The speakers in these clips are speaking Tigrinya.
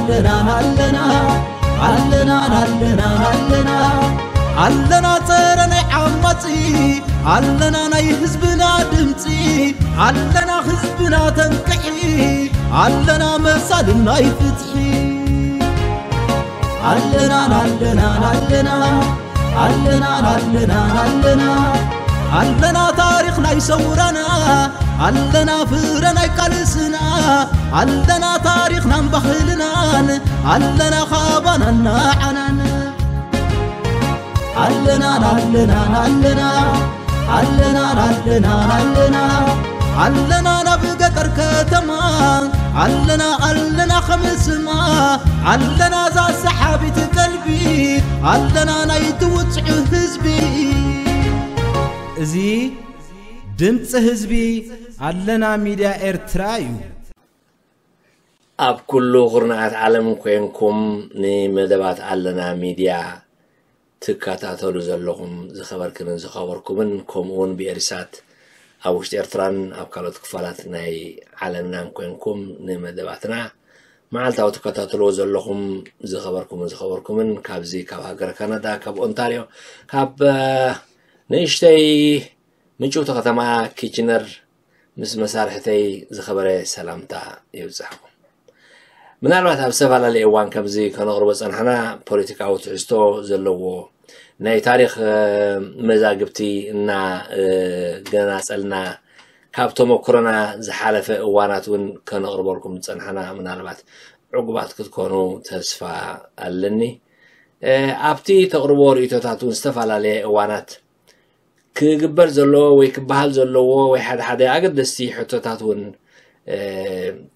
ኣለና ኣለና ኣለና ኣለና ኣለና ኣለና ጸረ ናይ ዓማጺ ኣለና ናይ ህዝብና ድምጺ ኣለና ህዝብና ተንቅሒ ኣለና መሳልን ናይ ፍትሒ ኣለና ኣለና ኣለና ኣለና ኣለና ኣለና ኣለና ታሪኽ ናይ ሰውራና ኣለና ፍረ ናይ ቃልስና ኣለና ታሪኽናን ባህልናን ኣለና ካባናን ንዓናን ኣለና ኣለና ኣለና ኣለና ኣለና ኣለና ኣለና ናብ ገጠር ከተማ ኣለና ኣለና ከምስማ ኣለና ዛ ሰሓቢት ቀልቢ ኣለና ናይ ትውፅዑ ህዝቢ እዚ ድምፂ ህዝቢ ኣለና ሚድያ ኤርትራ እዩ። ኣብ ኩሉ ኩርናዓት ዓለም ኮይንኩም ንመደባት ኣለና ሚድያ ትከታተሉ ዘለኹም ዝኸበርክንን ዝኸበርኩምን ከምኡውን ብኤሪሳት ኣብ ውሽጢ ኤርትራን ኣብ ካልኦት ክፋላት ናይ ዓለምናን ኮይንኩም ንመደባትና መዓልታዊ ትከታተልዎ ዘለኹም ዝኸበርኩምን ዝኸበርኩምን ካብዚ ካብ ሃገር ካናዳ ካብ ኦንታርዮ ካብ ንእሽተይ ምጭውቲ ከተማ ኪችነር ምስ መሳርሕተይ ዝኸበረ ሰላምታ ይብጻሕኩም። ምናልባት ኣብ ዝተፈላለየ እዋን ከምዚ ከነቕርቦ ጸናሕና ፖለቲካዊ ትሕዝቶ ዘለዎ ናይ ታሪኽ መዛግብቲ እና ገናጸልና ካብ ተመክሮና ዝሓለፈ እዋናት እውን ከነቕርበልኩም ጸናሕና ምናልባት ዕጉባት ክትኮኑ ተስፋ ኣለኒ። ኣብቲ ተቕርቦ ርእቶታት እውን ዝተፈላለየ እዋናት ክግበር ዘለዎ ወይ ክበሃል ዘለዎ ወይ ሓደ ሓደ ኣገደስቲ ሕቶታት እውን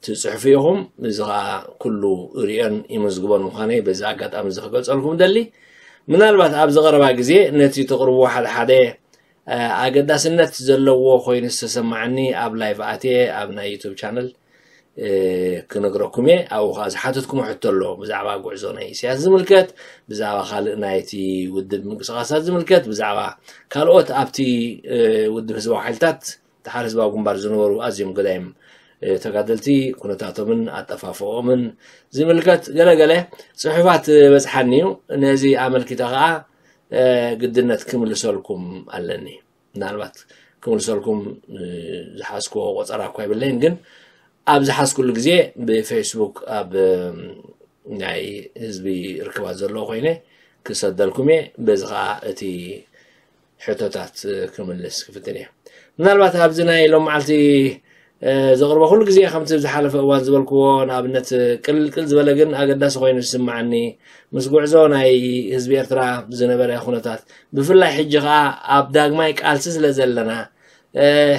ትፅሕፉ ኢኹም። እዚ ከዓ ኩሉ ርእዮን ይምዝግቦን ምዃነይ በዚ ኣጋጣሚ እዚ ክገልፀልኩም ደሊ። ምናልባት ኣብዚ ቀረባ ግዜ ነቲ ተቕርብዎ ሓደ ሓደ ኣገዳስነት ዘለዎ ኮይኑ ዝተሰማዓኒ ኣብ ላይቭ ኣትየ ኣብ ናይ ዩቱብ ቻነል ክነግረኩም እየ። ኣብኡ ከዓ ዝሓተትኩሞ ሕቶ ኣሎ ብዛዕባ ጉዕዞ ናይ ኢሳያስ ዝምልከት፣ ብዛዕባ ካልእ ናይቲ ውድብ ምንቅስቃሳት ዝምልከት፣ ብዛዕባ ካልኦት ኣብቲ ውድብ ህዝባዊ ሓይልታት ድሓር ህዝባዊ ግንባር ዝነበሩ ኣዝዮም ገዳይም ተጋደልቲ ኩነታቶምን ኣጠፋፍኦምን ዝምልከት ገለገለ ፅሑፋት በፅሓኒ እዩ። ነዚ ኣመልኪተ ከዓ ግድነት ክምልሰልኩም ኣለኒ። ምናልባት ክምልሰልኩም ዝሓዝክዎ ቆፀራ እኳ የብለይን፣ ግን ኣብ ዝሓዝኩሉ ግዜ ብፌስቡክ ኣብ ናይ ህዝቢ ርክባት ዘለዎ ኮይነ ክሰደልኩም እየ። በዚ ከዓ እቲ ሕቶታት ክምልስ ክፍትን እየ። ምናልባት ኣብዚ ናይ ሎም መዓልቲ ዘቕርቦ ኩሉ ግዜ ከምቲ ዝሓለፈ እዋን ዝበልክዎ ንኣብነት ቅልቅል ዝበለ ግን ኣገዳሲ ኮይኑ ዝስምዓኒ ምስ ጉዕዞ ናይ ህዝቢ ኤርትራ ዝነበረ ኩነታት ብፍላይ ሕጂ ከዓ ኣብ ዳግማይ ቃልሲ ስለ ዘለና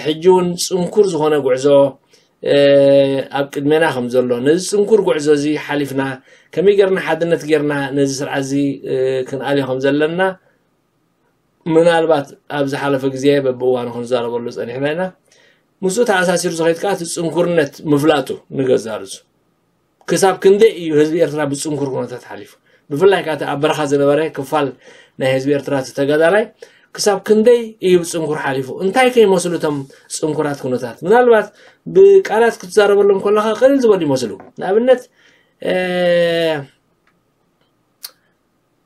ሕጂ እውን ፅንኩር ዝኾነ ጉዕዞ ኣብ ቅድሜና ከም ዘሎ ነዚ ፅንኩር ጉዕዞ እዚ ሓሊፍና ከመይ ጌርና ሓድነት ጌርና ነዚ ስርዓት እዚ ክንኣልዮ ከም ዘለና ምናልባት ኣብ ዝሓለፈ ግዜ በብእዋኑ ክንዛረበሉ ፀኒሕና ኢና። ምስኡ ተኣሳሲሩ ዝኸይድ ከዓ እቲ ፅንኩርነት ምፍላጡ ንገዛርዙ ክሳብ ክንደይ እዩ ህዝቢ ኤርትራ ብፅንኩር ኩነታት ሓሊፉ? ብፍላይ ከዓ እቲ ኣብ በረኻ ዝነበረ ክፋል ናይ ህዝቢ ኤርትራ እቲ ተጋዳላይ ክሳብ ክንደይ እዩ ብፅንኩር ሓሊፉ? እንታይ ከይመስሉ እቶም ፅንኩራት ኩነታት? ምናልባት ብቃላት ክትዛረበሎም ከለካ ቀሊል ዝበሉ ይመስሉ። ንኣብነት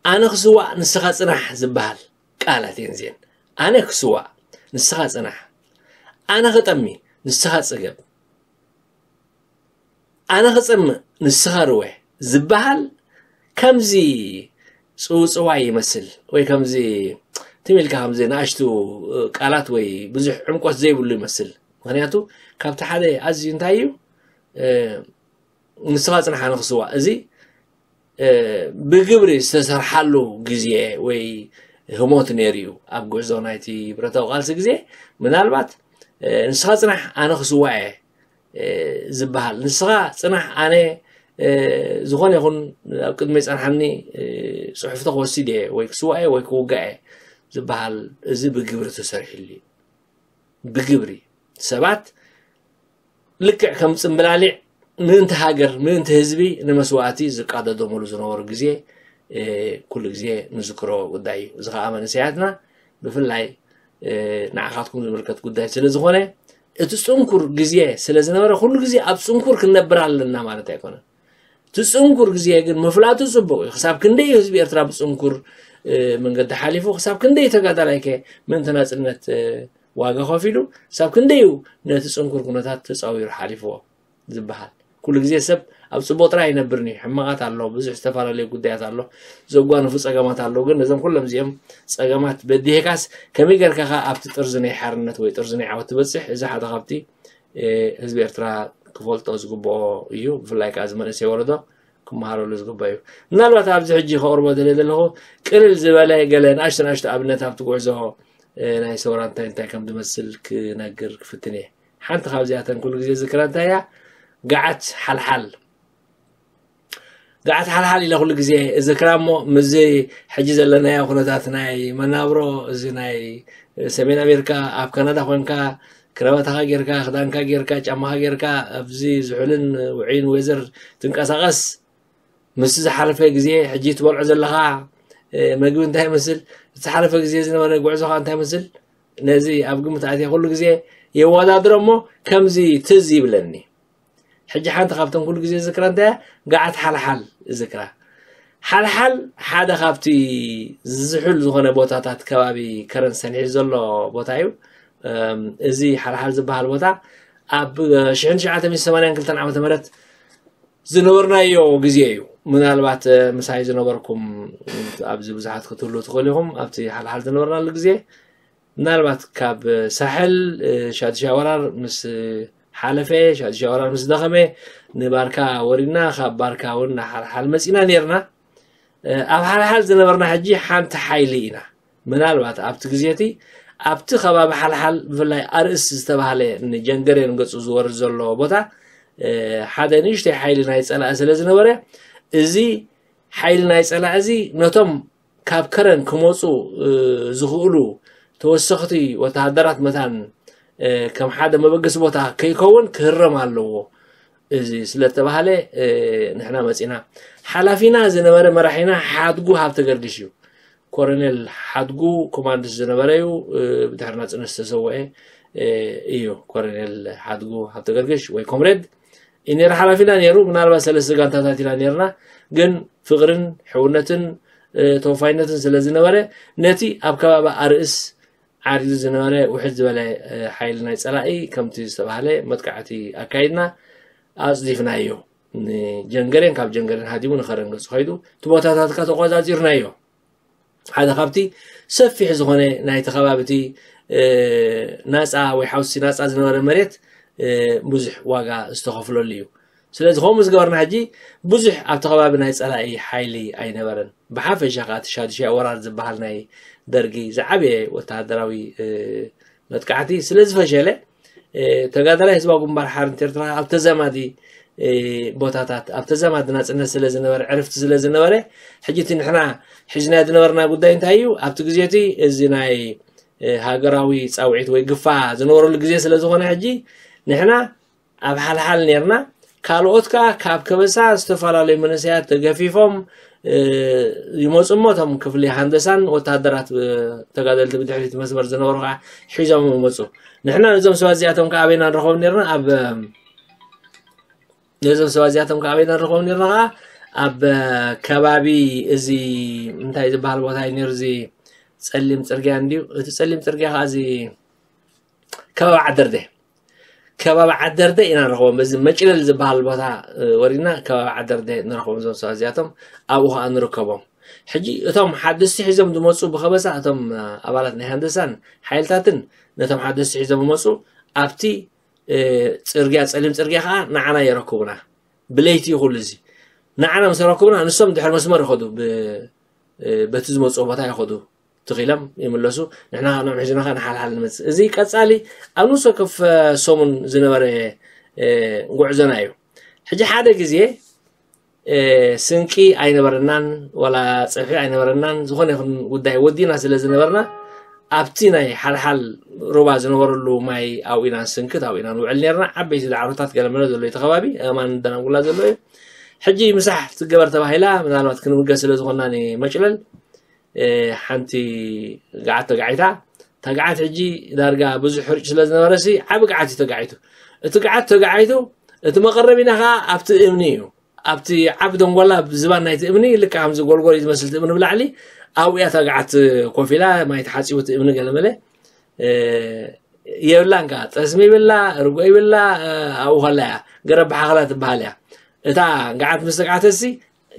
ኣነ ክስዋእ ንስኻ ጽናሕ ዝበሃል ቃላት እየን እዚኤን። ኣነ ክስዋእ ንስኻ ጽናሕ፣ ኣነ ክጠሚ ንስኻ ጽገብ፣ ኣነ ክጸምእ ንስኻ ርወ ዝበሃል ከምዚ ጽውጽዋይ ይመስል ወይ ከምዚ ትም ኢልካ ከምዚ ንኣሽቱ ቃላት ወይ ብዙሕ ዕምቆት ዘይብሉ ይመስል። ምኽንያቱ ካብቲ ሓደ ኣዝዩ እንታይ እዩ ንስኻ ጽንሓ ንኽስዋእ እዚ ብግብሪ ዝተሰርሓሉ ግዜ ወይ ህሞት ነይሩ እዩ። ኣብ ጉዕዞ ናይቲ ብረታዊ ቃልሲ ግዜ ምናልባት ንስኻ ጽናሕ ኣነ ክስዋእ እየ ዝበሃል፣ ንስኻ ጽናሕ ኣነ ዝኾነ ይኹን ኣብ ቅድመይ ጸንሓኒ ጽሑፍቲ ክወስድ እየ ወይ ክስዋእ እየ ወይ ክውጋእ እየ ዝበሃል እዚ ብግብሪ ተሰሪሕሉ እዩ። ብግብሪ ሰባት ልክዕ ከም ጽምብላሊዕ ምእንቲ ሃገር ምእንቲ ህዝቢ ንመስዋእቲ ዝቃደደሙሉ ዝነበሩ ግዜ ኩሉ ግዜ ንዝክሮ ጉዳይ እዩ። እዚ ከዓ መንእሰያትና ብፍላይ ንዓኻትኩም ዝምልከት ጉዳይ ስለ ዝኾነ እቲ ጽንኩር ግዜ ስለ ዝነበረ ኩሉ ግዜ ኣብ ጽንኩር ክንነብር ኣለና ማለት ኣይኮነን። እቲ ጽንኩር ግዜ ግን ምፍላጡ ጽቡቕ እዩ። ክሳብ ክንደይ እዩ ህዝቢ ኤርትራ ብጽንኩር መንገዲ ሓሊፉ፣ ክሳብ ክንደይ ተጋዳላይ ከ ምእንቲ ናጽነት ዋጋ ከፊሉ፣ ክሳብ ክንደይ እዩ ነቲ ጽንኩር ኩነታት ተጻዊሩ ሓሊፍዎ ዝበሃል። ኩሉ ግዜ ሰብ ኣብ ጽቡቕ ጥራይ ኣይነብርን እዩ። ሕማቓት ኣሎ፣ ብዙሕ ዝተፈላለዩ ጉዳያት ኣሎ፣ ዘጓንፉ ጸገማት ኣለዉ። ግን ነዞም ኩሎም እዚኦም ጸገማት በዲህካስ ከመይ ጌርካ ከ ኣብቲ ጥርዚ ናይ ሓርነት ወይ ጥርዚ ናይ ዓወት ትበጽሕ? እዚ ሓደ ካብቲ ህዝቢ ኤርትራ ክፈልጦ ዝግብኦ እዩ። ብፍላይ ከዓ እዚ መንእሰይ ወለዶ ክመሃረሉ ዝግባእ እዩ። ምናልባት ኣብዚ ሕጂ ከቕርቦ ደለ ዘለኹ ቅልል ዝበለ ገለ ንኣሽቶ ንኣሽቶ ኣብነት ኣብቲ ጉዕዞ ናይ ሰውራ እንታይ እንታይ ከም ዝመስል ክነግር ክፍትን እየ። ሓንቲ ካብዚኣተን ኩሉ ግዜ ዝክራ እንታይ እያ? ገዓት ሓልሓል። ገዓት ሓልሓል ኢለ ኩሉ ግዜ እዝክራ እሞ ምስዚ ሕጂ ዘለናዮ ኩነታት ናይ መናብሮ፣ እዚ ናይ ሰሜን ኣሜሪካ፣ ኣብ ካናዳ ኮንካ ክረባታኻ ጌርካ፣ ክዳንካ ጌርካ፣ ጫማኻ ጌርካ ኣብዚ ዝሑልን ውዑይን ዌዘር ትንቀሳቐስ፣ ምስ ዝሓለፈ ግዜ ሕጂ ትበልዖ ዘለኻ መግቢ እንታይ ይመስል፣ እቲ ዝሓለፈ ግዜ ዝነበረ ጉዕዞኻ እንታይ ይመስል፣ ነዚ ኣብ ግምት ኣትየ ኩሉ ግዜ የወዳድሮ እሞ ከምዚ ትዝ ይብለኒ። ሕጂ ሓንቲ ካብተን ኩሉ ግዜ ዝክራ እንታይ እያ? ገዓት ሓልሓል ዝክራ። ሓልሓል ሓደ ካብቲ ዝሑል ዝኾነ ቦታታት ከባቢ ከረን ሰንሒዝ ዘሎ ቦታ እዩ። እዚ ሓልሓል ዝበሃል ቦታ ኣብ ሽሕን ትሽዓተ ሚእትን ሰማንያን ክልተን ዓመተ ምህረት ዝነበርናዮ ግዜ እዩ። ምናልባት ምሳይ ዝነበርኩም ኣብዚ ብዙሓት ክትህሉ ትኽእሉ ኢኹም። ኣብቲ ሓልሓል ዝነበርናሉ ግዜ ምናልባት ካብ ሳሕል ሻድሻ ወራር ምስ ሓለፈ፣ ሻድሻ ወራር ምስ ደኸመ፣ ንባርካ ወሪድና፣ ካብ ባርካ እውን ንሓልሓል መፂና ነርና። ኣብ ሓልሓል ዝነበርና ሕጂ ሓንቲ ሓይሊ ኢና። ምናልባት ኣብቲ ግዜ እቲ ኣብቲ ከባቢ ሓልሓል ብፍላይ ኣርእስ ዝተባህለ ንጀንገሬን ገፁ ዝወርድ ዘሎ ቦታ ሓደ ንእሽተይ ሓይሊ ናይ ፀላኢ ስለ ዝነበረ፣ እዚ ሓይሊ ናይ ፀላኢ እዚ ነቶም ካብ ከረን ክመፁ ዝኽእሉ ተወሰኽቲ ወተሃደራት መታን ከም ሓደ መበገሲ ቦታ ከይከውን ክህረም ኣለዎ። እዚ ስለተባህለ ንሕና መፂና። ሓላፊና ዝነበረ መራሒና ሓድጉ ሃብተ ገርግሽ እዩ። ኮረኔል ሓድጉ ኮማንድስ ዝነበረ እዩ። ብድሕሪ ናፅነት ዝተሰወአ እዩ። ኮረኔል ሓድጉ ሃብተ ገርግሽ ወይ ኮምሬድ እዩ ነይሩ ሓላፊና ነይሩ። ምናልባት ሰለስተ ጋንታታት ኢና ነይርና፣ ግን ፍቕርን ሕውነትን ተወፋይነትን ስለ ዝነበረ ነቲ ኣብ ከባቢ ኣርእስ ዓሪዱ ዝነበረ ውሕድ ዝበለ ሓይሊ ናይ ፀላኢ ከምቲ ዝተባህለ መጥቃዕቲ ኣካይድና ኣፅዲፍናዮ። ንጀንገሬን ካብ ጀንገሬን ሃዲሙ ንኸረን ገፁ ከይዱ እቲ ቦታታት ከ ተቆፃፂርናዮ። ሓደ ካብቲ ሰፊሕ ዝኾነ ናይቲ ከባቢ እቲ ናፃ ወይ ሓውሲ ናፃ ዝነበረ መሬት ብዙሕ ዋጋ ዝተኸፍለሉ እዩ። ስለዚ ከምኡ ዝገበርና ሕጂ ብዙሕ ኣብቲ ከባቢ ናይ ፀላኢ ሓይሊ ኣይነበረን። ብሓፈሻ ከዓ እቲ ሻዱሻይ ወራር ዝበሃል ናይ ደርጊ ዝዓበየ ወተሃደራዊ መጥቃዕቲ ስለ ዝፈሸለ ተጋዳላይ ህዝባዊ ግንባር ሓርነት ኤርትራ ኣብ ተዛማዲ ቦታታት ኣብ ተዛማዲ ናፅነት ስለ ዝነበረ ዕርፍቲ ስለ ዝነበረ ሕጂ እቲ ንሕና ሒዝናዮ ዝነበርና ጉዳይ እንታይ እዩ? ኣብቲ ግዜ እቲ እዚ ናይ ሃገራዊ ፃውዒት ወይ ግፋ ዝነበረሉ ግዜ ስለ ዝኾነ ሕጂ ንሕና ኣብ ሓልሓል ነርና። ካልኦት ከዓ ካብ ከበሳ ዝተፈላለዩ መንእሰያት ተገፊፎም ይመፁ እሞ እቶም ክፍሊ ሃንደሳን ወተሃደራት ተጋደልቲ ብድሕሪት መስመር ዝነበሩ ከዓ ሒዞም ይመፁ። ንሕና ነዞም ሰባት እዚኣቶም ከዓ ኣበይና ንረኸቦም ነርና? ኣብ ነዞም ሰባት እዚኣቶም ከዓ ኣበይና ንረኸቦም ነርና? ከዓ ኣብ ከባቢ እዚ እንታይ ዝበሃል ቦታ እዩ ነሩ? እዚ ፀሊም ፅርግያ እንድዩ። እቲ ፀሊም ፅርግያ ከዓ እዚ ከባቢ ዓደርደ ከባቢ ዓደርደ ኢና ንረኽቦም። በዚ መጭለል ዝበሃል ቦታ ወሪድና ከባቢ ዓደርደ ንረኽቦም። እዞም ሰባት እዚኣቶም ኣብኡ ከዓ ንርከቦም። ሕጂ እቶም ሓደስቲ ሒዞም ዝመፁ ብኸበሳ እቶም ኣባላት ናይ ሃንደሳን ሓይልታትን ነቶም ሓደስቲ ሒዞም ዝመፁ ኣብቲ ፅርግያ ፀሊም ፅርግያ ከዓ ንዓና የረክቡና። ብለይቲ እዩ ኩሉ እዚ ንዓና ምስ ረክቡና ንሶም ድሕሪ መስመር ይኸዱ። በቲ ዝመፅኦ ቦታ ይኸዱ ትኺሎም ይምለሱ። ንሕና ንዕም ሒዝና ከዓ ንሓልሓል ንመፅእ። እዚ ቀፃሊ ኣብ ንሶ ከፍ ሰሙን ዝነበረ ጉዕዞና እዩ። ሕጂ ሓደ ግዜ ስንቂ ኣይነበረናን ዋላ ፀብሒ ኣይነበረናን። ዝኾነ ይኹን ጉዳይ ወዲና ስለ ዝነበርና ኣብቲ ናይ ሓልሓል ሩባ ዝነበረሉ ማይ ኣብኡ ኢና ንስንክት ኣብኡ ኢና ንውዕል ነርና። ዓበይቲ ዳዕሮታት ገለመለ ዘሎ እቲ ከባቢ ኣማን ደናጉላ ዘሎ እዩ። ሕጂ ምሳሕ ትገበር ተባሂላ ምናልባት ክንምገ ስለ ዝኾንና ንመጭለል ሓንቲ ገዓት ተጋዒታ። እታ ገዓት ሕጂ ዳርጋ ብዙሕ ሕርጭ ስለ ዝነበረ ሲ ዓቢ ገዓት እዩ ተጋዒቱ። እቲ ገዓት ተጋዒቱ እቲ መቐረቢና ከዓ ኣብቲ እምኒ እዩ። ኣብቲ ዓቢ ደንጎላ ዝባን ናይቲ እምኒ ልክዕ ከምዚ ጎልጎል እዩ ዝመስል እቲ እምኒ ብላዕሊ ኣብኡ እያ እታ ገዓት ኮፍ ኢላ ማይ ተሓፂቡ እቲ እምኒ ገለመለ የብላን ከዓ ጠስሚ ይብላ ርጎ ይብላ ኣብኡ ከላ እያ ገረብ ብሓኽላ ትበሃል እያ እታ ገዓት ምስ ተግዓተሲ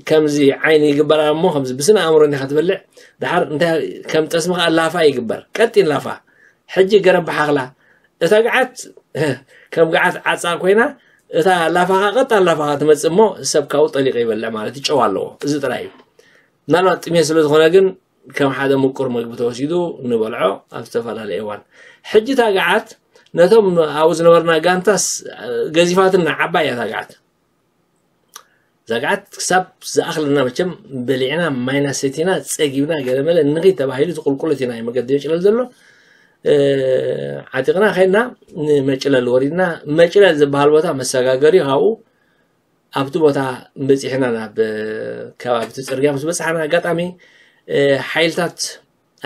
ከምዚ ዓይኒ ይግበራ እሞ ከምዚ ብስነ ኣእምሮ እንዲኻ ትበልዕ ድሓር እንታይ ከም ጠስሚ ከዓ ላፋ ይግበር ቀጢን ላፋ ሕጂ ገረብ ብሓኽላ እታ ገዓት ከም ገዓት ዓፃ ኮይና እታ ላፋኻ ቀጣን ላፋኻ ትመፅእ እሞ ሰብ ካብኡ ጠሊቑ ይበልዕ ማለት ይጨው ኣለዎ እዚ ጥራይ እዩ ምናልባት ጥሜት ስለ ዝኾነ ግን ከም ሓደ ምቁር መግቢ ተወሲዱ ንበልዖ ኣብ ዝተፈላለየ እዋን ሕጂ እታ ገዓት ነቶም ኣብኡ ዝነበርና ጋንታስ ገዚፋትና ዓባይ እያ እታ ገዓት እዛ ገዓት ክሳብ ዝኣኽለና መቸም በሊዕና ማይና ሰቲና ፀጊብና ገለመለ ንኺድ ተባሂሉ ዝቁልቁለት ኢና መገዲ መጭለል ዘሎ ዓጢቕና ከድና ንመጭለል ወሪድና መጭለል ዝበሃል ቦታ መሰጋገሪ ካብኡ ኣብቲ ቦታ በፂሕና ናብ ከባቢ እቲ ፅርግያ ምስ በፃሕና ኣጋጣሚ ሓይልታት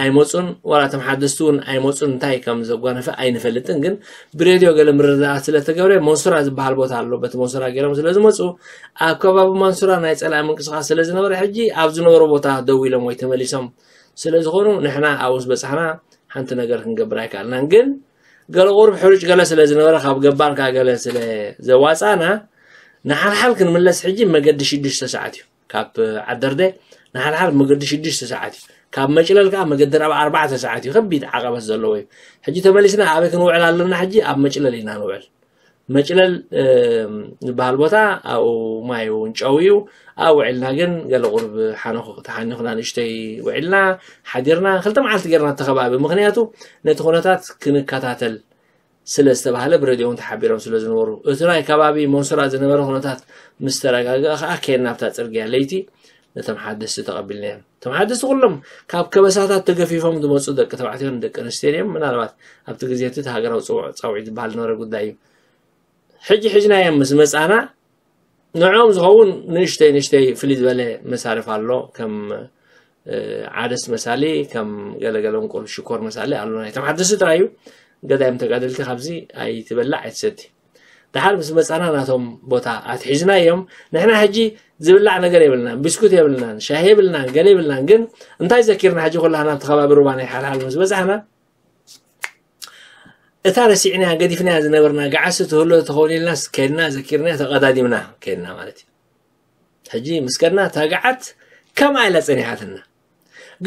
ኣይመፁን ዋላ እቶም ሓደስቲ እውን ኣይመፁን እንታይ ከም ዘጓነፈ ኣይንፈልጥን ግን ብሬድዮ ገለ ምርዳእ ስለተገብረ መንሱራ ዝበሃል ቦታ ኣሎ በቲ መንሱራ ገይሮም ስለዝመፁ ኣብ ከባቢ መንሱራ ናይ ፀላኢ ምንቅስቃስ ስለዝነበረ ሕጂ ኣብ ዝነበሩ ቦታ ደው ኢሎም ወይ ተመሊሶም ስለዝኾኑ ንሕና ኣብኡስ በፃሕና ሓንቲ ነገር ክንገብር ኣይከኣልናን ግን ገለ ቁሩብ ሕሩጭ ገለ ስለዝነበረ ካብ ገባር ከዓ ገለ ስለዘዋፃና ንሓልሓል ክንምለስ ሕጂ መገዲ ሽዱሽተ ሰዓት እዩ ካብ ዓደርደ ንሓድሓድ መገዲ ሽዱሽተ ሰዓት እዩ ካብ መጭለል ከዓ መገዲ ራብ ኣርባዕተ ሰዓት እዩ ከቢድ ዓቐበት ዘለዎ እዩ ሕጂ ተመሊስና ኣበይ ክንውዕል ኣለና ሕጂ ኣብ መጭለል ኢና ንውዕል መጭለል ዝበሃል ቦታ ኣብኡ ማይ እውን ጨው እዩ ኣብ ውዕልና ግን ገለ ቁርብ ሓነኹ ተሓኒኹና ንእሽተይ ውዕልና ሓዲርና ክልተ መዓልቲ ገርና ተኸባቢ ምክንያቱ ነቲ ኩነታት ክንከታተል ስለ ዝተባህለ ብረድዮ እውን ተሓቢሮም ስለ ዝነበሩ እቲ ናይ ከባቢ መንሱራ ዝነበረ ኩነታት ምስ ተረጋግአ ከዓ ከየና ኣብታ ፅርግያ ለይቲ ነቶም ሓደስቲ ተቐቢልናዮም እቶም ሓደስቲ ኩሎም ካብ ከበሳታት ተገፊፎም ዝመፁ ደቂ ተባዕትዮን ደቂ ኣንስትዮን እዮም ምናልባት ኣብቲ ግዜ እቲ ሃገራዊ ፀውዒ ዝበሃል ዝነበረ ጉዳይ እዩ ሕጂ ሒዝናዮም ምስ መፃና ንዕኦም ዝኸውን ንእሽተይ ንእሽተይ ፍልይ ዝበለ መሳርፍ ኣሎ ከም ዓደስ መሳሊ ከም ገለገለ እንቁር ሽኮር መሳሊ ኣሎ ናይቶም ሓደስቲ ጥራይ እዩ ገዳይም ተጋደልቲ ካብዚ ኣይትበላዕ ኣይትሰቲ ድሓር ምስ መፃና ናቶም ቦታ ኣትሒዝና እዮም ንሕና ሕጂ ዝብላዕ ነገር የብልናን ብስኩት የብልናን ሻሂ የብልናን ገለ የብልናን ግን እንታይ ዘኪርና ሕጂ ኩላህና ኣብቲ ከባቢ ሩባ ናይ ሓልሓል ምስ በፃሕና እታ ረሲዕናያ ገዲፍናያ ዝነበርና ገዓሲ ትህሎ ተኸውን ኢልናስ ከድና ዘኪርናያ ተቐዳዲምና ከድና ማለት እዩ ሕጂ ምስ ከድና እታ ገዓት ከምኣ ኢላ ፀኒሓትና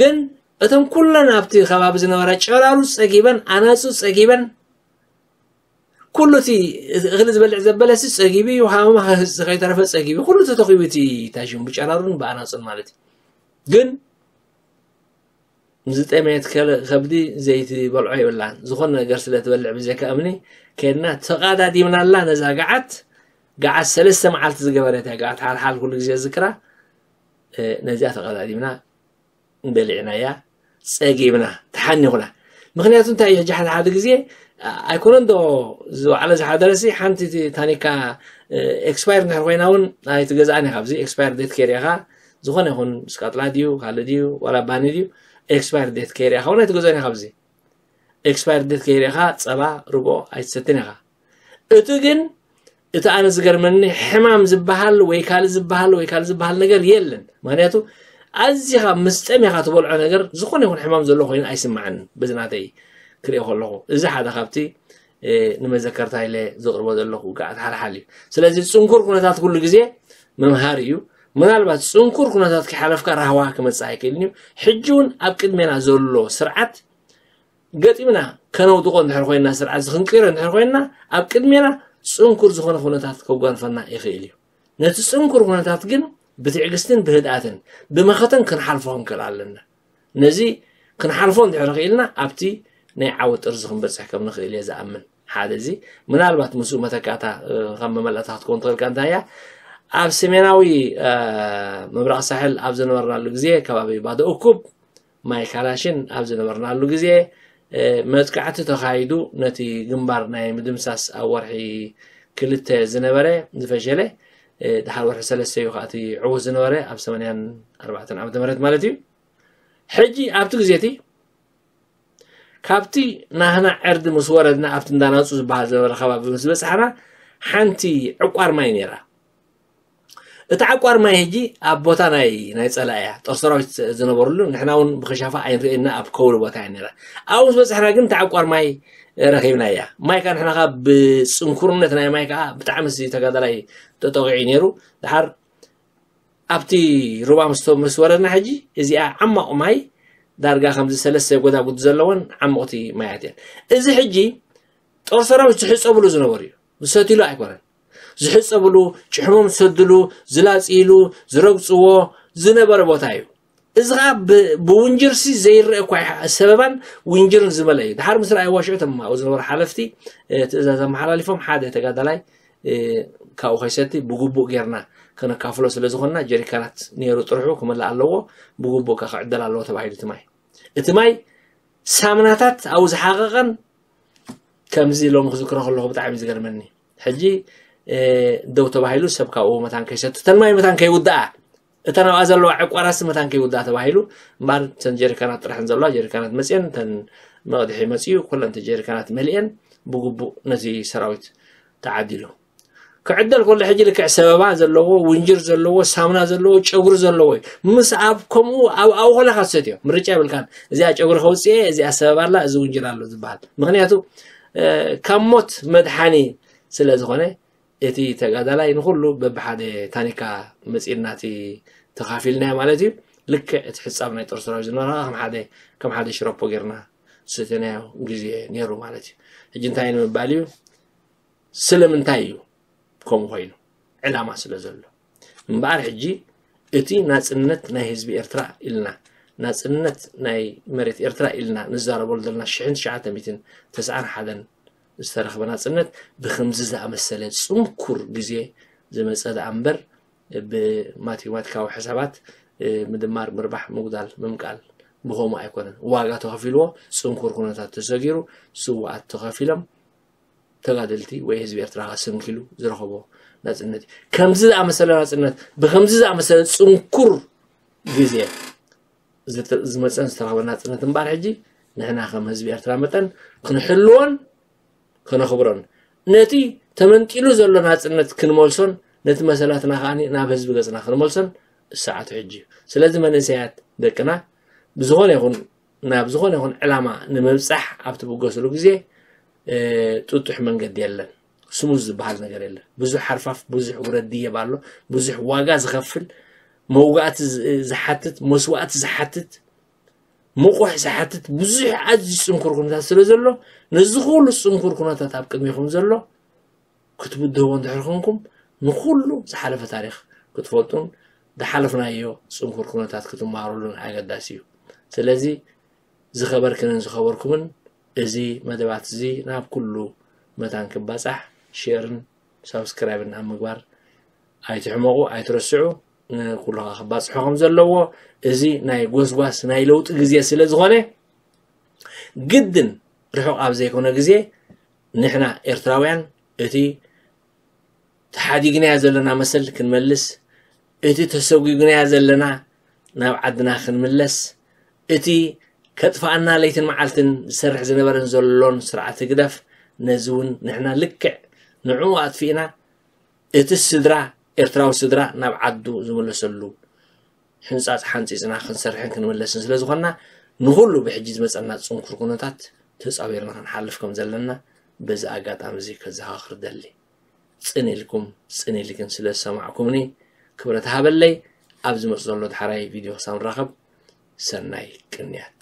ግን እቶም ኩለን ኣብቲ ከባቢ ዝነበራ ጨራሩ ፀጊበን ኣናፁ ፀጊበን ኩሉ እቲ እኽሊ ዝበልዕ ዘበለሲ ፀጊቡ እዩ ሃመማ ከይተረፈ ፀጊቡ ኩሉ ተተኺቡ እቲ ታሽሙ ብጨራሩን ብኣናፁን ማለት እዩ ግን ዝጠመየት ከብዲ ዘይቲ በልዖ የብላን ዝኾነ ነገር ስለ ትበልዕ ብዘይካ እምኒ ከድና ተቓዳዲምናላ ነዛ ገዓት ገዓት ሰለስተ መዓልቲ ዝገበረት እያ ገዓት ሓልሓል ኩሉ ግዜ ዝክራ ነዚኣ ተቓዳዲምና በሊዕናያ ፀጊብና ተሓኒኹና ምክንያቱ እንታይ እዩ ሕጂ ሓደ ሓደ ግዜ ኣይኮነን ዶ ዝባዕለ ዝሓደረሲ ሓንቲ ታኒካ ኤክስፓየር እንድሕር ኮይና እውን ኣይትገዛእን ኢኻ ኣብዚ ኤክስፓየር ዴት ከይርኢኻ ዝኾነ ይኹን ስቃጥላ ድዩ ካልእ ድዩ ዋላ ባኒ ድዩ ኤክስፓየር ዴት ከይርኢኻ እውን ኣይትገዛእን ኢኻ ኣብዚ ኤክስፓየር ዴት ከይርኢኻ ፀባ ርጎ ኣይትሰትን ኢኻ እቲ ግን እቲ ኣነ ዝገርመኒ ሕማም ዝበሃል ወይ ካልእ ዝበሃል ወይ ካልእ ዝበሃል ነገር የለን ምክንያቱ ኣዚኻ ምስ ጠሜኻ ትበልዖ ነገር ዝኾነ ይኹን ሕማም ዘሎ ኮይኑ ኣይስማዓንን በዚ ናተይ ክሪኦ ከለኹ እዚ ሓደ ካብቲ ንመዘከርታ ኢለ ዘቕርቦ ዘለኹ ገዓት ሓልሓል እዩ ስለዚ ፅንኩር ኩነታት ኩሉ ግዜ መምሃር እዩ ምናልባት ፅንኩር ኩነታት ከይሓለፍካ ራህዋ ክመፅእ ኣይክእልን እዩ ሕጂ እውን ኣብ ቅድሜና ዘሎ ስርዓት ገጢምና ከነውድቆ እንድሕር ኮይና ስርዓት ዝክንቅሮ እንድሕር ኮይና ኣብ ቅድሜና ፅንኩር ዝኾነ ኩነታት ከጓንፈና ይኽእል እዩ ነቲ ፅንኩር ኩነታት ግን ብትዕግስትን ብህድኣትን ብመኸተን ክንሓልፎ ክንክእል ኣለና ነዚ ክንሓልፎ እንድሕር ክኢልና ኣብቲ ናይ ዓወት ጥርዚ ክንበፅሕ ከም ንኽእል እየ ዝኣምን ሓደ እዚ ምናልባት ምስኡ መተካእታ ከም መመላእታ ክትከውን ትኽእል ከ እንታይ እያ ኣብ ሰሜናዊ ምብራቕ ሳሕል ኣብ ዝነበርናሉ ግዜ ከባቢ ባዶ እኩብ ማይ ካላሽን ኣብ ዝነበርናሉ ግዜ መጥቃዕቲ ተኻይዱ ነቲ ግንባር ናይ ምድምሳስ ኣብ ወርሒ ክልተ ዝነበረ ዝፈሸለ ድሓር ወርሒ ሰለስተ እዩ ከኣቲ ዕዉት ዝነበረ ኣብ ሰማንያን ኣርባዕተን ዓመተ ምህረት ማለት እዩ ሕጂ ኣብቲ ግዜ እቲ ካብቲ ናህና ዕርዲ ምስ ወረድና ኣብቲ እንዳናፁ ዝበሃል ዝነበረ ከባቢ ምስ በፃሕና ሓንቲ ዕቋር ማይ ነይራ እቲ ዓቋር ማይ ሕጂ ኣብ ቦታ ናይ ናይ ጸላእያ ጦር ሰራዊት ዝነበርሉ ንሕና እውን ብክሻፋ ኣይንርእየና ኣብ ከውሊ ቦታ እያ ነራ። ኣብኡ ምስ በጻሕና ግን እቲ ዓቋር ማይ ረኺብና እያ። ማይ ከዓ ንሕና ከዓ ብጽንኩርነት ናይ ማይ ከዓ ብጣዕሚ ሲ ተጋዳላይ ተጠቂዑ ነይሩ። ድሓር ኣብቲ ሩባ ምስ ምስ ወረድና ሕጂ እዚኣ ዓማቕ ማይ ዳርጋ ከምዚ ሰለስተ ጎዳጉድ ዘለወን ዓሞቕቲ ማያት እየን። እዚ ሕጂ ጦር ሰራዊት ዝሕፀብሉ ዝነበሩ እዩ። ዝሰትሉ ኣይኮነን። ዝሕፀብሉ፣ ጭሕሞም ዝሰድሉ፣ ዝላፅይሉ፣ ዝረግፅዎ ዝነበረ ቦታ እዩ። እዚ ከዓ ብ- ብውንጅርሲ ዘይረአ እኳ ይሓ- ሰበባን ውንጅርን ዝመልአ እዩ። ድሓር ምስ ረኣይዋ ሽዑ እቶም ኣብኡ ዝነበሩ ሓለፍቲ እ፣ ትእዛዝ ኣመሓላሊፎም ሓደ ተጋዳላይ እ፣ ካብኡ ከይሰቲ ብግቡእ ጌርና ከነካፍሎ ስለ ዝኾንና ጀሪካናት ነይሩ ጥርሑ ክመልእ ኣለዎ፣ ብግቡእ ከ ክዕደል ኣለዎ ተባሂሉ እቲ ማይ። እቲ ማይ ሳምናታት ኣብኡ ዝሓቐቐን ከምዚ ሎሚ ክዝክሮ ከለኹ ብጣዕሚ ዝገርመኒ። ሕጂ እ፣ ደው ተባሂሉ ሰብ ካብኡ መታን ከይሰቲ እተን ማይ መታን ከይውድኣ እተን ኣብኣ ዘለዋ ዕቋራሲ መታን ከይውድኣ ተባሂሉ እምበኣር እተን ጀሪካናት ጥራሕን ዘለዋ ጀሪካናት መፅየን እተን መቕድሒ መፅዩ ኩለን እቲ ጀሪካናት መሊአን ብግቡእ ነቲ ሰራዊት ተዓዲሉ ክዕደል ከሎ ሕጂ ልክዕ ሰበባ ዘለዎ ውንጅር ዘለዎ ሳሙና ዘለዎ ጨጉሪ ዘለዎ እዩ ምስ ኣብ ከምኡ ኣብ ኣብኡ ከለካ ትሰትዮ ምርጫ የብልካን እዚኣ ጨጉሪ ከውፅእ እየ እዚኣ ሰበባ ኣላ እዚ ውንጅር ኣሎ ዝበሃል ምክንያቱ ካብ ሞት መድሓኒ ስለ ዝኾነ እቲ ተጋዳላይ ንኹሉ በብሓደ ታኒካ መፂእና እቲ ተኻፊልናዮ ማለት እዩ። ልክዕ እቲ ሕፃብ ናይ ጦር ሰራዊት ዝነበረ ከዓ ከም ሓደ ከም ሓደ ሽረፖ ጌርና ዝሰተናዮ ግዜ ነይሩ ማለት እዩ። ሕጂ እንታይ ንምባል እዩ? ስለምንታይ እዩ ከምኡ ኮይኑ? ዕላማ ስለ ዘሎ እምበኣር ሕጂ እቲ ናፅነት ናይ ህዝቢ ኤርትራ ኢልና ናፅነት ናይ መሬት ኤርትራ ኢልና ንዛረበሉ ዘለና ሽሕን ትሽዓተ ሚእትን ተስዓን ሓደን ዝተረኽበ ናፅነት ብከምዚ ዝኣመሰለ ፅንኩር ግዜ ዝመፀ ደኣ እምበር ብማቴማቲካዊ ሕሳባት ምድማር ምርባሕ ምጉዳል ምምቃል ብኸምኡ ኣይኮነን ዋጋ ተኸፊልዎ ፅንኩር ኩነታት ተሰጊሩ ስውኣት ተኸፊሎም ተጋደልቲ ወይ ህዝቢ ኤርትራ ከስንኪሉ ዝረኸቦ ናፅነት እዩ። ከምዚ ዝኣመሰለ ናፅነት ብከምዚ ዝኣመሰለ ፅንኩር ግዜ ዝመፀን ዝተረኸበ ናፅነት እምበኣር ሕጂ ንሕና ከም ህዝቢ ኤርትራ መጠን ክንሕልዎን ከነኽብሮን ነቲ ተመንጢሉ ዘሎ ናፅነት ክንመልሶን ነቲ መሰላትና ከዓ ናብ ህዝቢ ገፅና ክንመልሶን ሰዓቱ ሕጂ እዩ። ስለዚ መንእሰያት ደቅና ብዝኾነ ይኹን ናብ ዝኾነ ይኹን ዕላማ ንምብፃሕ ኣብ ትብገስሉ ግዜ ጥጡሕ መንገዲ የለን። ስሙዝ ዝበሃል ነገር የለን። ብዙሕ ሓርፋፍ፣ ብዙሕ ውረድ ድየብ ኣሎ፣ ብዙሕ ዋጋ ዝኸፍል፣ መውጋእቲ ዝሓትት፣ መስዋእቲ ዝሓትት፣ ምቑሕ ዝሓትት ብዙሕ ኣዝዩ ፅንኩር ኩነታት ስለ ዘሎ ነዚ ኩሉ ፅንኩር ኩነታት ኣብ ቅድሚኹም ዘሎ ክትብድህዎ እንድሕር ኮንኩም ንኩሉ ዝሓለፈ ታሪኽ ክትፈልጡን ዝሓለፍናዮ ፅንኩር ኩነታት ክትመሃሩሉን ኣገዳሲ እዩ። ስለዚ ዝኸበርክንን ዝኸበርኩምን እዚ መደባት እዚ ናብ ኩሉ መታን ክባፃሕ ሼርን ሳብስክራይብን ኣብ ምግባር ኣይትሕመቑ ኣይትረስዑ። ንኩሉ ከዓ ክባፅሖ ከም ዘለዎ እዚ ናይ ጎስጓስ ናይ ለውጢ ግዜ ስለ ዝኾነ ግድን ርሑቕ ኣብ ዘይኮነ ግዜ ንሕና ኤርትራውያን እቲ ተሓዲግናዮ ዘለና መሰል ክንመልስ እቲ ተሰጒግናዮ ዘለና ናብ ዓድና ክንምለስ እቲ ከጥፍኣና ለይትን መዓልትን ዝሰርሕ ዝነበረን ዘሎን ስርዓት ህግደፍ ነዚ እውን ንሕና ልክዕ ንዕኡ ኣጥፊእና እቲ ስድራ ኤርትራዊ ስድራ ናብ ዓዱ ዝምለሰሉ ሕንፃፅ ሓንፂፅና ክንሰርሕን ክንምለስን ስለ ዝኾንና ንኹሉ ብሕጂ ዝመፀና ፅንኩር ኩነታት ተፃዊርና ክንሓልፍ ከም ዘለና በዚ ኣጋጣሚ እዚ ከዘኻኽር ደሊ። ፅን ኢልኩም ፅን ኢልክን ስለ ዝሰማዕኩምኒ ክብረት ሃበለይ። ኣብ ዝመፅ ዘሎ ዳሕራይ ቪድዮ ክሳብ ንራኸብ ሰናይ ቅንያት።